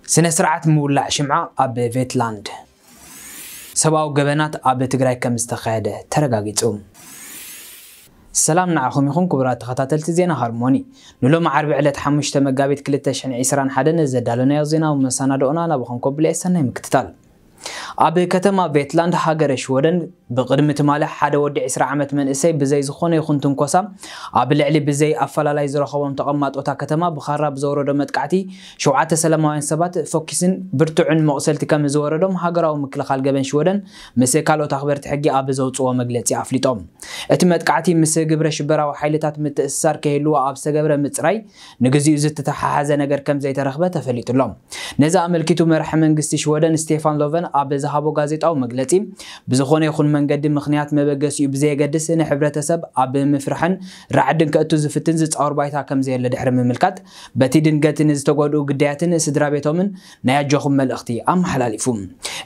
ስነ ስርዓት ምውላዕ ሽምዓ ኣብ ቬትላንድ። ሰብኣዊ ገበናት ኣብ ትግራይ ከም ዝተኻየደ ተረጋጊጹ። ሰላም ንዓኹም ይኹን ክቡራት ተኸታተልቲ ዜና ሃርሞኒ። ንሎሚ ዓርቢ ዕለት ሓሙሽተ መጋቢት ክልተ ሽሕን ዕስራን ሓደን ዘዳለናዮ ዜናዊ መሰናድኦና ናባኹም ከብሎ እየ። ሰናይ ምክትታል። ኣብ ከተማ ቬትላንድ ሃገረ ሽወደን ብቕድሚ ትማሊ ሓደ ወዲ ዕስራ ዓመት መንእሰይ ብዘይ ዝኾነ ይኹን ትንኮሳ ኣብ ልዕሊ ብዘይ ኣፈላላይ ዝረኸቦም ተቐማጦታ ከተማ ብኻራ ብዘውረዶ መጥቃዕቲ ሸውዓተ ሰላማውያን ሰባት ፈኲስን ብርቱዕን መቑሰልቲ ከም ዝወረዶም ሃገራዊ ምክልኻል ገበን ሽወደን ምስ ካልኦት ኣኽበርቲ ሕጊ ኣብ ዘውፅዎ መግለፂ ኣፍሊጦም። እቲ መጥቃዕቲ ምስ ግብረ ሽበራዊ ሓይልታት ምትእስሳር ከይህልዎ ኣብ ዝተገብረ ምፅራይ ንግዚኡ ዝተተሓሓዘ ነገር ከም ዘይተረኽበ ተፈሊጡ ኣሎ። ነዚ ኣመልኪቱ መራሒ መንግስቲ ሽወደን ስቴፋን ሎቨን ኣብ ዝሃቦ ጋዜጣዊ መግለጺ ብዝኾነ ይኹን መንገዲ ምኽንያት መበገሲኡ ብዘየገድስ ንሕብረተሰብ ኣብ ምፍርሕን ራዕድን ከእቱ ዝፍትን ዝጻወር ባይታ ከም ዘየለ ድሕሪ ምምልካት በቲ ድንገት ንዝተጎድኡ ግዳያትን ስድራ ቤቶምን ናይ ኣጆኹም መልእኽቲ ኣመሓላሊፉ።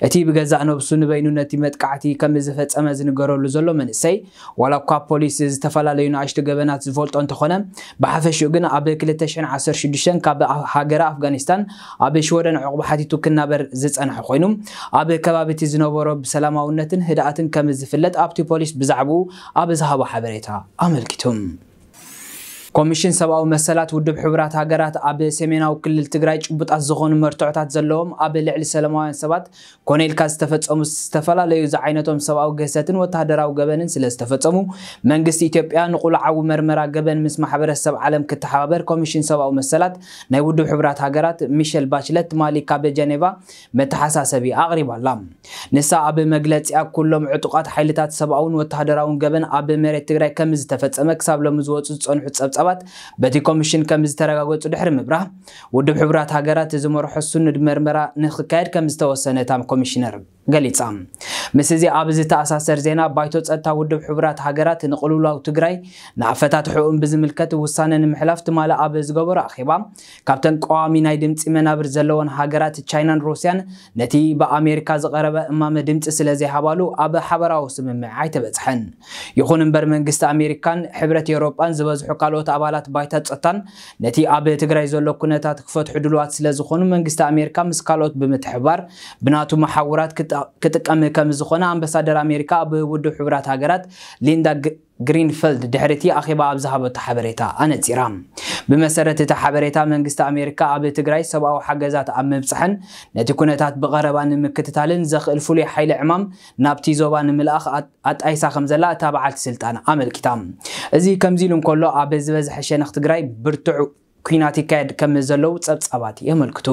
እቲ ብገዛእ ነብሱ ንበይኑ ነቲ መጥቃዕቲ ከም ዝፈጸመ ዝንገረሉ ዘሎ መንእሰይ ዋላ እኳ ፖሊስ ዝተፈላለዩ ንኣሽቱ ገበናት ዝፈልጦ እንተኾነ ብሓፈሽኡ ግን ኣብ ክልተ ሽሕን ዓሰርተ ሽዱሽተን ካብ ሃገረ ኣፍጋኒስታን ኣብ ሽወደን ዕቑባ ሓቲቱ ክናበር ዝጸንሐ ኮይኑ ኣብ ከባቢ እቲ ዝነበሮ ብሰላማውነትን ህድኣትን ከም ዝፍለጥ ኣብቲ ፖሊስ ብዛዕባኡ ኣብ ዝሃቦ ሓበሬታ ኣመልኪቱ። ኮሚሽን ሰብኣዊ መሰላት ውድብ ሕቡራት ሃገራት ኣብ ሰሜናዊ ክልል ትግራይ ጭቡጣት ዝኾኑ መርትዖታት ዘለዎም ኣብ ልዕሊ ሰላማውያን ሰባት ኮነ ኢልካ ዝተፈጸሙ ዝተፈላለዩ ዝዓይነቶም ሰብኣዊ ግህሰትን ወተሃደራዊ ገበንን ስለ ዝተፈጸሙ መንግስቲ ኢትዮጵያ ንቑልዓዊ መርመራ ገበን ምስ ማሕበረሰብ ዓለም ክተሓባበር ኮሚሽን ሰብኣዊ መሰላት ናይ ውድብ ሕቡራት ሃገራት ሚሸል ባችለት ትማሊ ካብ ጀኔቫ መተሓሳሰቢ ኣቕሪባ ኣላ። ንሳ ኣብ መግለጺኣ ኩሎም ዕጡቓት ሓይልታት ሰብኣውን ወተሃደራውን ገበን ኣብ መሬት ትግራይ ከም ዝተፈጸመ ክሳብ ሎሚ ዝወጹ ዝጸንሑ ጸብጻባት በቲ ኮሚሽን ከም ዝተረጋገጹ ድሕሪ ምብራህ ውድብ ሕቡራት ሃገራት ዝመርሖ ስኑድ መርመራ ንክካየድ ከም ዝተወሰነ እታ ኮሚሽነር ገሊጻ። ምስ እዚ ኣብ ዝተኣሳሰር ዜና ባይቶ ጸጥታ ውድብ ሕቡራት ሃገራት ንቕልውላው ትግራይ ንኣፈታትሕኡን ብዝምልከት ውሳነ ንምሕላፍ ትማሊ ኣብ ዝገበሮ ኣኼባ ካብተን ቀዋሚ ናይ ድምፂ መናብር ዘለወን ሃገራት ቻይናን ሩስያን ነቲ ብኣሜሪካ ዝቐረበ እማመ ድምፂ ስለ ዘይሃባሉ ኣብ ሓበራዊ ስምምዕ ኣይተበፅሐን። ይኹን እምበር መንግስቲ ኣሜሪካን ሕብረት ኤውሮጳን ዝበዝሑ ካልኦት ኣባላት ባይታ ጸጥታን ነቲ ኣብ ትግራይ ዘሎ ኩነታት ክፈትሑ ድልዋት ስለ ዝኾኑ መንግስቲ ኣሜሪካ ምስ ካልኦት ብምትሕብባር ብናቱ መሓውራት ክጠ- ክጥቀም ከም ዝኾነ ኣምባሳደር ኣሜሪካ ኣብ ውድብ ሕቡራት ሃገራት ሊንዳ ግ- ግሪንፈልድ ድሕሪ እቲ ኣኼባ ኣብ ዝሃበቶ ሓበሬታ ኣነጺራ። ብመሰረት እቲ ሓበሬታ መንግስቲ ኣሜሪካ ኣብ ትግራይ ሰብኣዊ ሓገዛት ኣብ ምብጻሕን ነቲ ኩነታት ብቐረባ ንምክትታልን ዘኽእል ፍሉይ ሓይሊ ዕማም ናብቲ ዞባ ንምልኣኽ ኣጣይሳ ከም ዘላ እታ በዓልቲ ስልጣን ኣመልኪታ። እዚ ከምዚ ኢሉ እንከሎ ኣብ ዝበዝሐ ሸነኽ ትግራይ ብርቱዕ ኲናት ይካየድ ከም ዘለዉ ጸብጻባት የመልክቱ።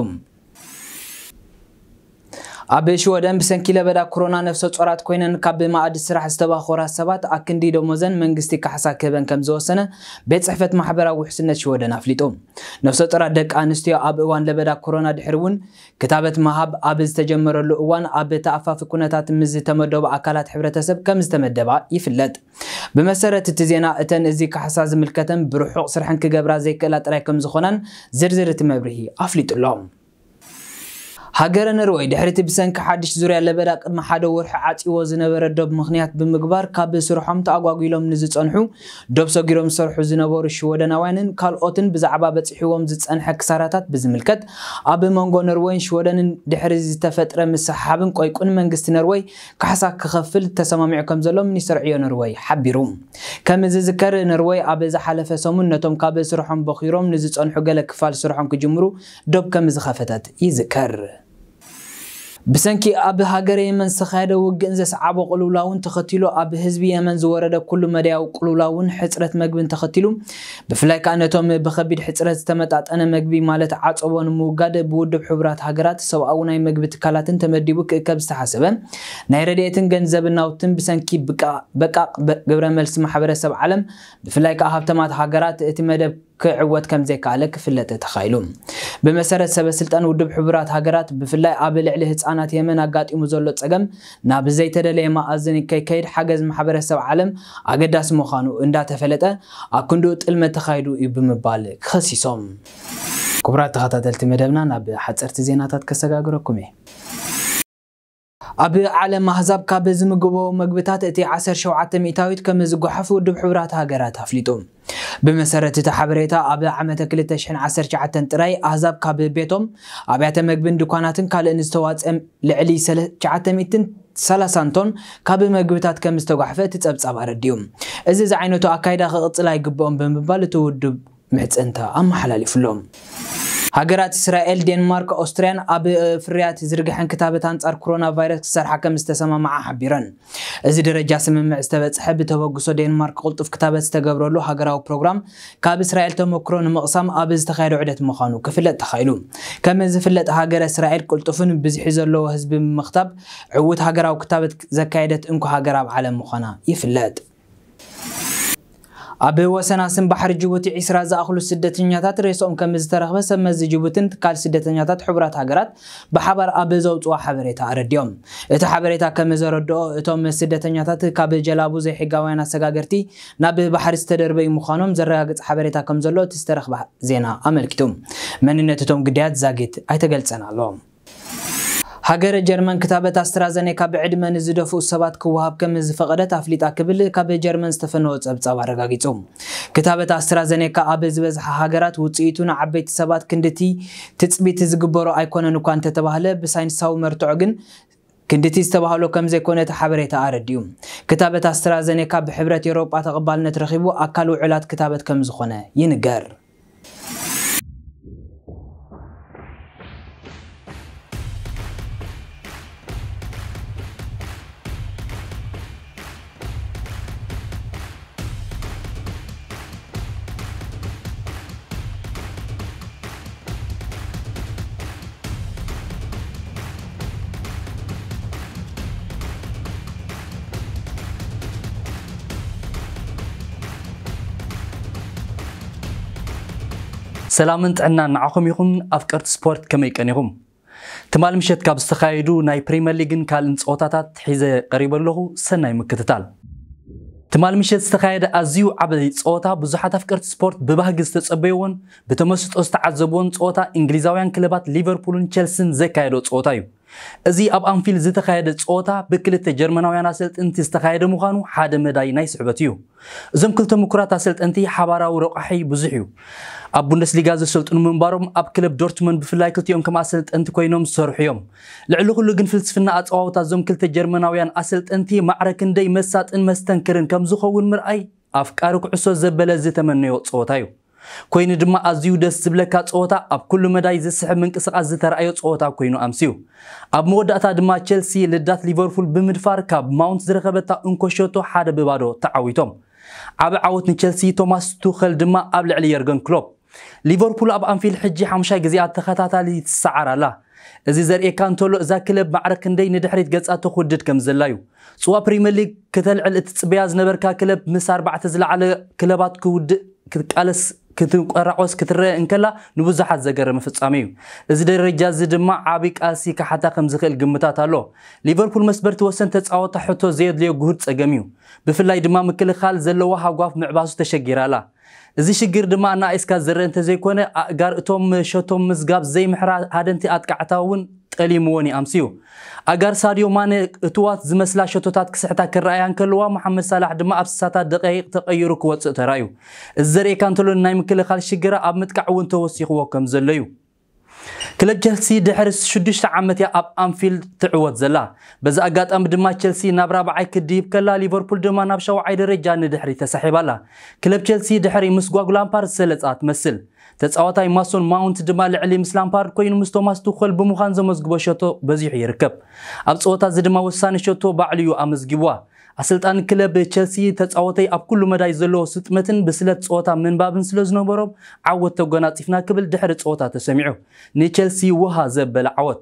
ኣብ ሽወደን ብሰንኪ ለበዳ ኮሮና ነፍሰ ጾራት ኮይነን ካብ ማእዲ ስራሕ ዝተባኾራ ሰባት ኣክንዲ ደሞዘን መንግስቲ ካሕሳ ክህበን ከም ዝወሰነ ቤት ጽሕፈት ማሕበራዊ ውሕስነት ሽወደን ኣፍሊጡ። ነፍሰ ጾራት ደቂ ኣንስትዮ ኣብ እዋን ለበዳ ኮሮና ድሕሪ እውን ክታበት ምሃብ ኣብ ዝተጀመረሉ እዋን ኣብ ተኣፋፊ ኩነታት ምስ ዝተመደቡ ኣካላት ሕብረተሰብ ከም ዝተመደባ ይፍለጥ። ብመሰረት እቲ ዜና እተን እዚ ካሕሳ ዝምልከተን ብርሑቕ ስርሐን ክገብራ ዘይክእላ ጥራይ ከም ዝኾናን ዝርዝር እቲ መብርሂ ኣፍሊጡ ኣሎ። ሃገረ ነርወይ ድሕሪ እቲ ብሰንኪ ሓድሽ ዙርያ ለበዳ ቅድሚ ሓደ ወርሒ ዓፂዎ ዝነበረ ዶብ ምኽንያት ብምግባር ካብ ስርሖም ተኣጓጒሎም ንዝፀንሑ ዶብ ሰጊሮም ዝሰርሑ ዝነበሩ ሽወደናውያንን ካልኦትን ብዛዕባ በፂሕዎም ዝፀንሐ ክሳራታት ብዝምልከት ኣብ መንጎ ነርወይን ሽወደንን ድሕሪ ዝተፈጥረ ምስሕሓብን ቆይቁን መንግስቲ ነርወይ ካሕሳ ክኸፍል ተሰማሚዑ ከም ዘሎ ሚኒስተር ዕዮ ነርወይ ሓቢሩ። ከም ዝዝከር ነርወይ ኣብ ዝሓለፈ ሰሙን ነቶም ካብ ስርሖም በኺሮም ንዝፀንሑ ገለ ክፋል ስርሖም ክጅምሩ ዶብ ከም ዝኸፈተት ይዝከር። ብሰንኪ ኣብ ሃገረ የመን ዝተኻየደ ውግእን ዘስዓቦ ቅልውላውን ተኸቲሉ ኣብ ህዝቢ የመን ዝወረደ ኩሉ መዳያዊ ቅልውላውን ሕፅረት መግብን ተኸቲሉ ብፍላይ ከኣ ነቶም ብኸቢድ ሕፅረት ዝተመጣጠነ መግቢ ማለት ዓፀቦ ንምውጋድ ብውድብ ሕቡራት ሃገራት ሰብኣዊ ናይ መግቢ ትካላትን ተመዲቡ ክእከብ ዝተሓሰበ ናይ ረድኤትን ገንዘብን ናውትን ብሰንኪ ብቃ- በቃቕ በ- ግብረ መልሲ ማሕበረሰብ ዓለም ብፍላይ ከኣ ሃብተማት ሃገራት እቲ መደብ ክዕወት ከም ዘይከኣለ ክፍለጥ ተኻኢሉ። ብመሰረት ሰበ ስልጣን ውድብ ሕቡራት ሃገራት ብፍላይ ኣብ ልዕሊ ህፃናት የመን ኣጋጢሙ ዘሎ ፀገም ናብ ዘይተደለየ መኣዝን ከይከይድ ሓገዝ ማሕበረሰብ ዓለም ኣገዳሲ ምዃኑ እንዳተፈለጠ ኣብ ክንድኡ ጥልመት ተኻይዱ እዩ ብምባል ከሲሶም። ክቡራት ተኸታተልቲ መደብና ናብ ሓፀርቲ ዜናታት ከሰጋግረኩም እየ። ኣብ ዓለም ኣህዛብ ካብ ዝምግብዎ መግብታት እቲ ዓሰርተ ሸውዓተ ሚእታዊት ከም ዝጓሓፍ ውድብ ሕቡራት ሃገራት ኣፍሊጡ። ብመሰረት እቲ ሓበሬታ፣ ኣብ ዓመተ ክልተ ሽሕን ዓሰርተ ትሽዓተን ጥራይ ኣህዛብ ካብ ቤቶም፣ ኣብያተ መግብን ድኳናትን ካልእን ዝተዋፅአ ልዕሊ ሰለ-፣ ትሽዓተ ሚእትን ሰላሳን ቶን ካብ መግብታት ከም ዝተጓሕፈ እቲ ጸብጻብ ኣረዲኡ። እዚ ዝዓይነቱ ኣካይዳ ክቕጽል ኣይግብኦም ብምባል እቲ ውድብ ምሕጽንታ ኣመሓላሊፉሎም። ሃገራት እስራኤል፣ ዴንማርክ፣ ኦስትርያን ኣብ ፍርያት ዝርግሐን ክታበት ኣንጻር ኮሮና ቫይረስ ክሰርሓ ከም ዝተሰማማዓ ሓቢረን። እዚ ደረጃ ስምምዕ ዝተበጽሐ ብተበግሶ ዴንማርክ ቅልጡፍ ክታበት ዝተገብረሉ ሃገራዊ ፕሮግራም ካብ እስራኤል ተመክሮ ንምቕሳም ኣብ ዝተኻየደ ዑደት ምዃኑ ክፍለጥ ተኻኢሉ። ከም ዝፍለጥ ሃገረ እስራኤል ቅልጡፍን ብዝሒ ዘለዎ ህዝቢ ብምኽታብ ዕዉት ሃገራዊ ክታበት ዘካየደት እንኮ ሃገር ኣብ ዓለም ምዃና ይፍለጥ። ኣብ ወሰን ኣስን ባሕሪ ጅቡቲ ዒስራ ዝኣኽሉ ስደተኛታት ሬስኦም ከም ዝተረኽበ ሰብ መዚ ጅቡትን ትካል ስደተኛታት ሕቡራት ሃገራት ብሓባር ኣብ ዘውፅዋ ሓበሬታ ኣረዲኦም። እቲ ሓበሬታ ከም ዘረድኦ፣ እቶም ስደተኛታት ካብ ጀላቡ ዘይሕጋውያን ኣሰጋገርቲ ናብ ባሕሪ ዝተደርበዩ ምዃኖም ዘረጋግጽ ሓበሬታ ከም ዘሎ እቲ ዝተረኽበ ዜና ኣመልኪቱ። መንነት እቶም ግዳያት ዛጊት ኣይተገልጸን ኣሎ። ሃገረ ጀርመን ክታበት ኣስትራዘኔካ ብዕድመ ንዝደፍኡ ሰባት ክወሃብ ከም ዝፈቐደት ኣፍሊጣ ክብል ካብ ጀርመን ዝተፈነወ ጸብጻብ ኣረጋጊጹ። ክታበት ኣስትራዘኔካ ኣብ ዝበዝሓ ሃገራት ውጽኢቱ ንዓበይቲ ሰባት ክንድቲ ትጽቢት ዝግበሮ ኣይኮነን እኳ እንተተባህለ፣ ብሳይንሳዊ መርትዖ ግን ክንድቲ ዝተባህሎ ከም ዘይኮነ እቲ ሓበሬታ ኣረዲኡ። ክታበት ኣስትራዘኔካ ብሕብረት ኤውሮጳ ተቐባልነት ረኺቡ ኣካል ውዕላት ክታበት ከም ዝኾነ ይንገር። ሰላምን ጥዕናን ንዓኹም ይኹን፣ ኣፍቀርቲ ስፖርት ከመይ ቀኒኹም? ትማል ምሸት ካብ ዝተኻየዱ ናይ ፕሪምየር ሊግን ካልእን ጸወታታት ሒዘ ቀሪበ ኣለኹ። ሰናይ ምክትታል። ትማል ምሸት ዝተኻየደ ኣዝዩ ዓቢ ጸወታ፣ ብዙሓት ኣፍቀርቲ ስፖርት ብባህጊ ዝተጸበይዎን ብተመስጦ ዝተዓዘብዎን ጸወታ፣ እንግሊዛውያን ክለባት ሊቨርፑልን ቸልሲን ዘካየዶ ጸወታ እዩ። እዚ ኣብ ኣንፊልድ ዝተኻየደ ጸወታ ብክልተ ጀርመናውያን ኣሰልጥንቲ ዝተኻየደ ምዃኑ ሓደ መዳይ ናይ ስሕበት እዩ። እዞም ክልተ ምኩራት ኣሰልጠንቲ ሓባራዊ ረቋሒ ብዙሕ እዩ። ኣብ ቡንደስሊጋ ዘሰልጥኑ ምንባሮም፣ ኣብ ክለብ ዶርትመንድ ብፍላይ ክልቲኦም ከም ኣሰልጠንቲ ኮይኖም ዝሰርሑ እዮም። ልዕሊ ኩሉ ግን ፍልስፍና ኣጸዋውታ እዞም ክልተ ጀርመናውያን ኣሰልጠንቲ ማዕረ ክንደይ መሳጥን መስተንክርን ከም ዝኸውን ምርኣይ ኣፍቃሪ ኩዕሶ ዘበለ ዝተመነዮ ጸወታ እዩ። ኮይኑ ድማ ኣዝዩ ደስ ዝብለካ ጸወታ፣ ኣብ ኩሉ መዳይ ዝስሕብ ምንቅስቓስ ዝተራእዮ ጸወታ ኮይኑ ኣምስዩ። ኣብ መወዳእታ ድማ ቸልሲ ልዳት ሊቨርፑል ብምድፋር ካብ ማውንት ዝረኸበታ እንኮ ሸቶ ሓደ ብባዶ ተዓዊቶም። ዓቢ ዓወት ንቸልሲ፣ ቶማስ ቱኸል ድማ ኣብ ልዕሊ የርገን ክሎፕ። ሊቨርፑል ኣብ ኣንፊልድ ሕጂ ሓሙሻይ ግዜኣ ተኸታታሊ ትሰዓር ኣላ። እዚ ዘርእየካ እንተሎ፣ እዛ ክለብ ማዕረ ክንደይ ንድሕሪት ገጻ ተኹድድ ከም ዘላ እዩ። ጽዋ ፕሪምየር ሊግ ከተልዕል እትጽበያ ዝነበርካ ክለብ፣ ምስ ኣርባዕተ ዝለዓለ ክለባት ክውድእ ክትቃለስ ክትቆራቆስ ክትረአ እንከላ፣ ንብዙሓት ዘገረመ ፍጻሜ እዩ። እዚ ደረጃ እዚ ድማ ዓቢ ቃልሲ ክሓታ ከም ዝኽእል ግምታት ኣሎ። ሊቨርፑል መስበርቲ ወሰን ተጻወታ ሕቶ ዘየድልዮ ግሁድ ጸገም እዩ። ብፍላይ ድማ ምክልኻል ዘለዋ ሃጓፍ ምዕባሱ ተሸጊራ ኣላ። እዚ ሽግር ድማ ኣናኢስካ ዝረአ እንተዘይኮነ፣ ኣእጋር እቶም ሸቶም ምዝጋብ ዘይምሕራ ሃደንቲ ኣጥቃዕታ እውን ጠሊምዎን ይኣምስዩ። ኣጋር ሳድዮ ማነ እትዋት ዝመስላ ሸቶታት ክስሕታ ክረኣያ እንከለዋ፣ መሓመድ ሳላሕ ድማ ኣብ ስሳታት ደቃይቕ ተቐይሩ ክወጽእ ተራእዩ። እዚ ዘርእየካ እንተሎ፣ ናይ ምክልኻል ሽግራ ኣብ ምጥቃዕ እውን ተወሲኽዎ ከም ዘሎ እዩ። ክለብ ቸልሲ ድሕሪ ሽዱሽተ ዓመት እያ ኣብ ኣንፊልድ ትዕወት ዘላ። በዚ ኣጋጣሚ ድማ ቸልሲ ናብ ራብዓይ ክድይብ ከላ፣ ሊቨርፑል ድማ ናብ ሻውዓይ ደረጃ ንድሕሪ ተሳሒባ ኣላ። ክለብ ቸልሲ ድሕሪ ምስጓግ ላምፓርድ ዝሰለጻ ትመስል። ተጻዋታይ ማሶን ማውንት ድማ ልዕሊ ምስ ላምፓርድ ኮይኑ ምስ ቶማስ ቱኸል ብምዃን ዘመዝግቦ ሸቶ በዚሑ ይርከብ። ኣብ ጸወታ እዚ ድማ ወሳኒ ሸቶ ባዕሉ እዩ ኣመዝጊብዋ። ኣሰልጣኒ ክለብ ቸልሲ፣ ተጻወተይ ኣብ ኩሉ መዳይ ዘለዎ ስጥመትን ብስለት ጸወታ ምንባብን ስለ ዝነበሮም ዓወት ተጎናጺፍና ክብል ድሕሪ ጸወታ ተሰሚዑ። ንቸልሲ ውሃ ዘበለ ዓወት።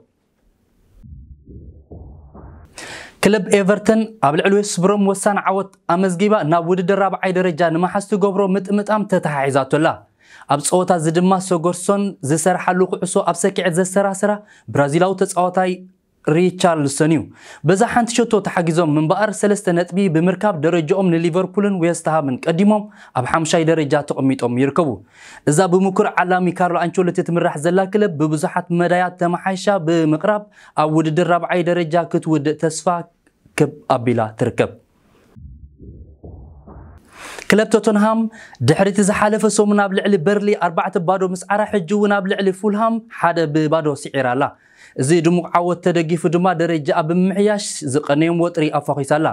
ክለብ ኤቨርተን ኣብ ልዕሊ ዌስት ብሮም ወሳኒ ዓወት ኣመዝጊባ ናብ ውድድር ራብዓይ ደረጃ ንምሓዝ ትገብሮ ምጥምጣም ተተሓሒዛቶ ኣላ። ኣብ ጸወታ እዚ ድማ ሰጎርሶን ዝሰርሓሉ ኩዕሶ ኣብ ሰኪዐት ዘሰራሰራ ብራዚላዊ ተጻዋታይ ሪቻርልሰን እዩ። በዛ ሓንቲ ሸቶ ተሓጊዞም ምንባኣር ሰለስተ ነጥቢ ብምርካብ ደረጃኦም ንሊቨርፑልን ዌስትሃምን ቀዲሞም ኣብ ሓምሻይ ደረጃ ተቐሚጦም ይርከቡ። እዛ ብምኩር ዓላሚ ካርሎ ኣንቸሎቲ ትምራሕ ዘላ ክለብ ብብዙሓት መዳያት ተመሓይሻ ብምቕራብ ኣብ ውድድር ራብዓይ ደረጃ ክትውድእ ተስፋ ክብ ኣቢላ ትርከብ። ክለብ ቶተንሃም ድሕሪ እቲ ዝሓለፈ ሰሙን ኣብ ልዕሊ በርሊ ኣርባዕተ ባዶ ምስዓራ ሕጂ እውን ኣብ ልዕሊ ፉልሃም ሓደ ብባዶ ስዒራ ኣላ። እዚ ድሙቕ ዓወት ተደጊፉ ድማ ደረጃኣ ብምምሕያሽ ዝቐነዮም ወጥሪ ኣፋኺሳ ኣላ።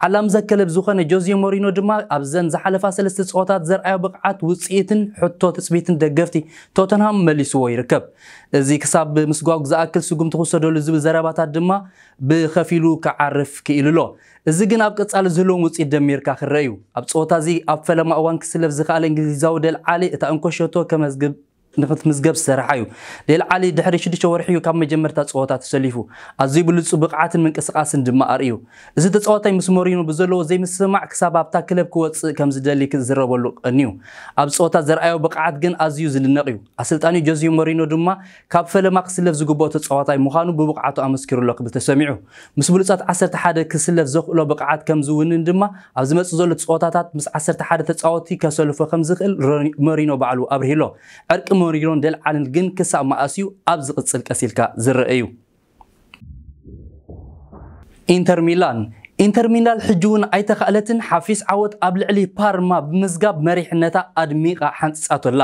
ዓላም ዘከለብ ዝኾነ ጆዜ ሞሪኖ ድማ ኣብዘን ዝሓለፋ ሰለስተ ፀወታት ዘርኣዮ ብቕዓት ውፅኢትን ሕቶ ትፅቢትን ደገፍቲ ቶተንሃም መሊስዎ ይርከብ። እዚ ክሳብ ምስጓግ ዝኣክል ስጉምቲ ክውሰደሉ ዝብል ዘረባታት ድማ ብኸፊሉ ክዓርፍ ክኢሉ ኣሎ። እዚ ግን ኣብ ቀጻሊ ዝህልዎም ውፅኢት ደሚርካ ክረአ እዩ። ኣብ ፀወታ እዚ ኣብ ፈለማ እዋን ክስለፍ ዝኸኣለ እንግሊዛዊ ደል ዓሊ እታ እንኮ ሸቶ ከመዝግብ ንክትምዝገብ ዝሰርሓ እዩ። ደል ዓሊ ድሕሪ ሽዱሽተ ወርሒ እዩ ካብ መጀመርታ ፀወታ ተሰሊፉ። ኣዝዩ ብሉፁ ብቕዓትን ምንቅስቃስን ድማ ኣርእዩ። እዚ ተፃዋታይ ምስ ሞሪኖ ብዘለዎ ዘይምስምማዕ ክሳብ ኣብታ ክለብ ክወፅእ ከም ዝደሊ ክዝረበሉ ቀንዩ። ኣብ ፀወታ ዘርኣዮ ብቕዓት ግን ኣዝዩ ዝድነቕ እዩ። ኣሰልጣኒ ጆዜ ሞሪኖ ድማ ካብ ፈለማ ክስለፍ ዝግብኦ ተፃዋታይ ምዃኑ ብብቕዓቱ ኣመስኪሩ ኣሎ ክብል ተሰሚዑ። ምስ ብሉፃት ዓሰርተ ሓደ ክስለፍ ዘኽእሎ ብቕዓት ከም ዝውንን ድማ ኣብ ዝመፅእ ዘሎ ፀወታታት ምስ ዓሰርተ ሓደ ተፃወቲ ከሰልፎ ከም ዝኽእል ሮኒ- ሞሪኖ ባዕሉ ኣብርሂ ኣሎ። ዕርቂ ሞሪኖን ደል ዓልን ግን ክሳብ መኣስ እዩ ኣብ ዝቕፅል ቀስ ኢልካ ዝረአ እዩ። ኢንተር ሚላን ኢንተር ሚላን ሕጂ እውን ኣይተኻእለትን። ሓፊስ ዓወት ኣብ ልዕሊ ፓርማ ብምዝጋብ መሪሕነታ ኣድሚቓ ሓንፂፃቶ ኣላ።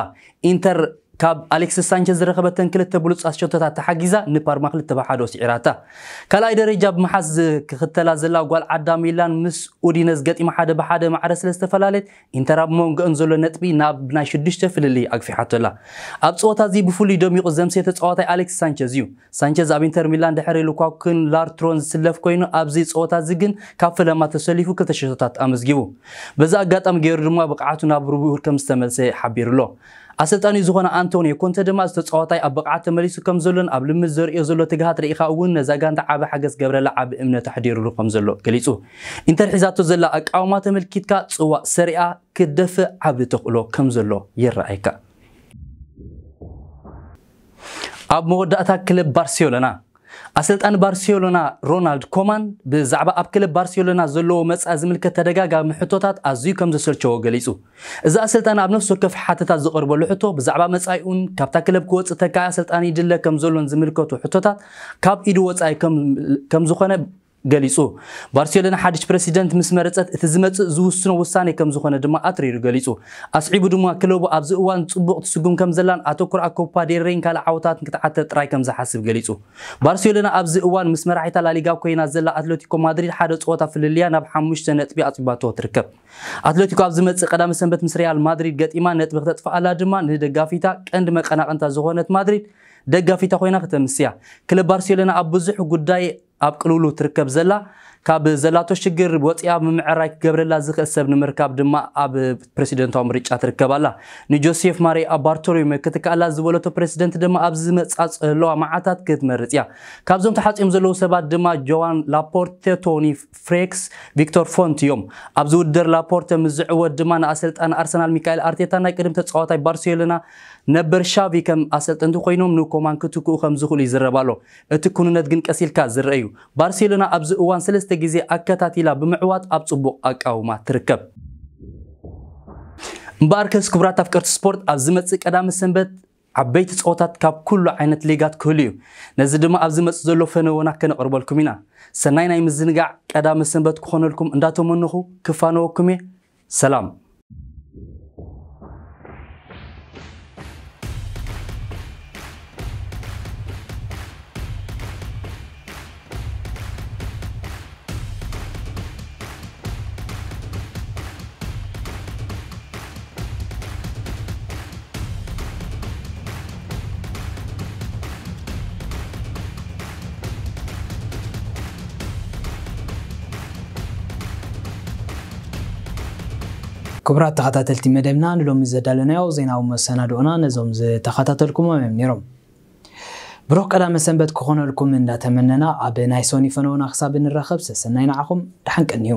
ኢንተር ካብ ኣሌክሲስ ሳንቸዝ ዝረኸበተን ክልተ ብሉፃት ሸቶታት ተሓጊዛ ንፓርማ ክልተ ብሓደ ስዒራታ። ካልኣይ ደረጃ ብምሓዝ ክኽተላ ዘላ ጓል ዓዳ ሚላን ምስ ኡዲነዝ ገጢማ ሓደ ብሓደ ማዕረ ስለ ዝተፈላለየት ኢንተር ኣብ መንጎአን ዘሎ ነጥቢ ናብ ናይ ሽዱሽተ ፍልልይ ኣግፊሓቶ ኣላ። ኣብ ፀወታ እዚ ብፍሉይ ደሚቑ ዘምስየ ተፃዋታይ ኣሌክሲስ ሳንቸዝ እዩ። ሳንቸዝ ኣብ ኢንተር ሚላን ድሕሪ ሉካኩን ላርትሮን ዝስለፍ ኮይኑ ኣብዚ ፀወታ እዚ ግን ካብ ፈለማ ተሰሊፉ ክልተ ሸቶታት ኣመዝጊቡ። በዚ ኣጋጣሚ ገይሩ ድማ ብቕዓቱ ናብ ርቡር ከም ዝተመልሰ ሓቢሩ ኣሎ። ኣሰልጣኒ ዝኾነ ኣንቶኒዮ ኮንተ ድማ እዚ ተፃዋታይ ኣብ ብቕዓት ተመሊሱ ከም ዘሎን ኣብ ልምድ ዘርእዮ ዘሎ ትግሃት ርኢኻ እውን ነዛ ጋንታ ዓቢ ሓገዝ ክገብረላ ዓቢ እምነት ኣሕዲሩሉ ከም ዘሎ ገሊጹ። ኢንተር ሒዛቶ ዘላ ኣቃውማ ተመልኪትካ ጽዋእ ሰሪኣ ክትደፍእ ዓቢ ተኽእሎ ከም ዘሎ ይረኣየካ። ኣብ መወዳእታ ክለብ ባርሴሎና ኣሰልጣኒ ባርሴሎና ሮናልድ ኮማን ብዛዕባ ኣብ ክለብ ባርሴሎና ዘለዎ መጻኢ ዝምልከት ተደጋጋሚ ሕቶታት ኣዝዩ ከም ዘሰልቸዎ ገሊጹ። እዚ ኣሰልጣኒ ኣብ ነፍሲ ወከፍ ሓተታ ዝቐርበሉ ሕቶ ብዛዕባ መጻኢኡን ካብታ ክለብ ክወጽእ ተካኢ ኣሰልጣኒ ይድለ ከም ዘሎን ዝምልከቱ ሕቶታት ካብ ኢዱ ወጻኢ ከም ዝኾነ ገሊጹ። ባርሴሎና ሓድሽ ፕረሲደንት ምስ መረጸት እቲ ዝመጽእ ዝውስኖ ውሳኔ ከም ዝኾነ ድማ ኣትሪሩ ገሊጹ። ኣስዒቡ ድማ ክለቡ ኣብዚ እዋን ጽቡቕ ትስጉም ከም ዘላን ኣተኩር ኣብ ኮፓ ዴል ሬይን ካልእ ዓወታትን ክትዓተ ጥራይ ከም ዝሓስብ ገሊጹ። ባርሴሎና ኣብዚ እዋን ምስ መራሒታ ላሊጋ ኮይና ዘላ ኣትሌቲኮ ማድሪድ ሓደ ጸወታ ፍልልያ ናብ ሓሙሽተ ነጥቢ ኣጽቢባቶ ትርከብ። ኣትሌቲኮ ኣብ ዝመጽእ ቀዳመ ሰንበት ምስ ሪያል ማድሪድ ገጢማ ነጥቢ ክተጥፍኣላ ድማ ንደጋፊታ ቀንዲ መቀናቕንታ ዝኾነት ማድሪድ ደጋፊታ ኮይና ክተምስያ። ክለብ ባርሴሎና ኣብ ብዙሕ ጉዳይ ኣብ ቅልውሉ ትርከብ ዘላ ካብ ዘላቶ ሽግር ወፂኣ ምምዕራይ ክገብረላ ዝኽእል ሰብ ንምርካብ ድማ ኣብ ፕረሲደንታዊ ምርጫ ትርከብ ኣላ። ንጆሴፍ ማሪያ ባርቶሎሜ ክትከኣላ ዝበለቶ ፕረሲደንት ድማ ኣብ ዝመፃ ዘለዋ መዓታት ክትመርፅ እያ። ካብዞም ተሓፂኦም ዘለዉ ሰባት ድማ ጆዋን ላፖርተ፣ ቶኒ ፍሬክስ፣ ቪክቶር ፎንት እዮም። ኣብዚ ውድድር ላፖርተ ምስ ዝዕወት ድማ ንኣሰልጣኒ ኣርሰናል ሚካኤል ኣርቴታ ናይ ቅድም ተፃዋታይ ባርሴሎና ነበር ሻቪ ከም ኣሰልጠንቲ ኮይኖም ንኮማን ክትክኡ ከም ዝኽእሉ ይዝረብ ኣሎ። እቲ ኩንነት ግን ቀስ ኢልካ ዝረአ እዩ። ባርሴሎና ኣብዚ እዋን ሰለስተ ግዜ ኣከታቲላ ብምዕዋት ኣብ ጽቡቕ ኣቃውማ ትርከብ። እምበኣርከስ ክቡራት ኣፍቀርቲ ስፖርት ኣብ ዝመጽእ ቀዳመ ሰንበት ዓበይቲ ጸወታት ካብ ኩሉ ዓይነት ሊጋት ክህሉ እዩ። ነዚ ድማ ኣብ ዝመጽእ ዘሎ ፈነወና ከነቕርበልኩም ኢና። ሰናይ ናይ ምዝንጋዕ ቀዳመ ሰንበት ክኾነልኩም እንዳተመነኹ ክፋነወኩም እየ። ሰላም። ክቡራት ተኸታተልቲ መደብና፣ ንሎሚ ዘዳለናዮ ዜናዊ መሰናድኦና ነዞም ዝተኸታተልኩሞም እዮም ነይሮም። ብሩኽ ቀዳመ ሰንበት ክኾነልኩም እንዳተመነና፣ ኣብ ናይ ሶኒ ፈነውና ክሳብ እንራኸብ ሰሰናይ ንዓኹም፣ ደሓን ቀንዩ።